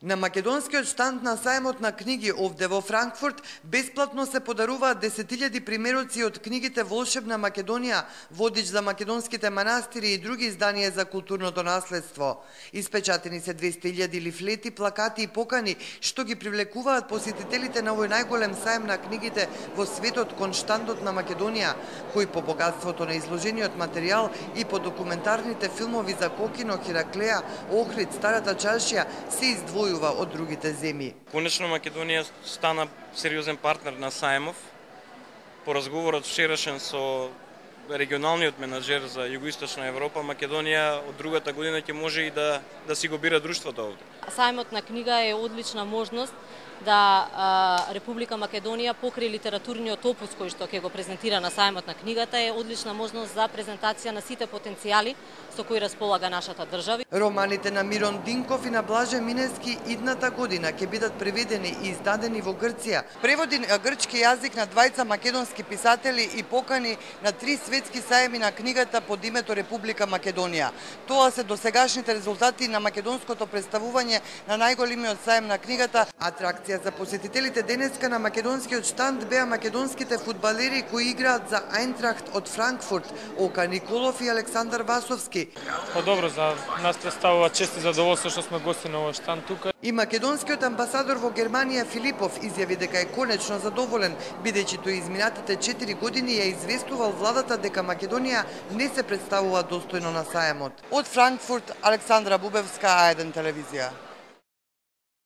На македонскиот штанд на сајмот на книги овде во Франкфурт бесплатно се подаруваат 10.000 примероци од книгите Волшебна Македонија, водич за македонските манастири и други изданија за културното наследство. Испечатени се 200.000 лифлети, плакати и покани што ги привлекуваат посетителите на овој најголем сајм на книгите во светот кон штандот на Македонија, кој по богатството на изложениот материјал и по документарните филмови за Кокино, Хераклеја, Охрид, Старата чаршија се издвојува од другите земји. Конечно Македонија стана сериозен партнер на сајмов. По разговорот вчерашен со регионалниот менаџер за Југоисточна Европа, Македонија од другата година ќе може и да си го бира друштвото овде. Сајмот на книга е одлична можност да Република Македонија покрај литературниот опус кој што ќе го презентира на сајмот на книгата е одлична можност за презентација на сите потенцијали со кои располага нашата држава. Романите на Мирон Динков и на Блаже Минески идната година ќе бидат преведени и издадени во Грција. Преводи на грчки јазик на двајца македонски писатели и покани на 3 светски сајми на книгата под името Република Македонија. Тоа се досегашните резултати на македонското представување на најголемиот сајм на книгата. Атракција за посетителите денеска на македонскиот штанд беа македонските фудбалери кои играат за Ајнтрахт од Франкфурт, Ока Николов и Александар Васовски. Добро, за нас представува чест и задоволство што сме гости на овој штанд тука. И македонскиот амбасадор во Германија Филипов изјави дека е конечно задоволен, бидејќи тој изминатите 4 години ја известувал владата дека Македонија не се представува достојно на сајмот. Од Франкфурт, Александра Бубевска, А1 телевизија.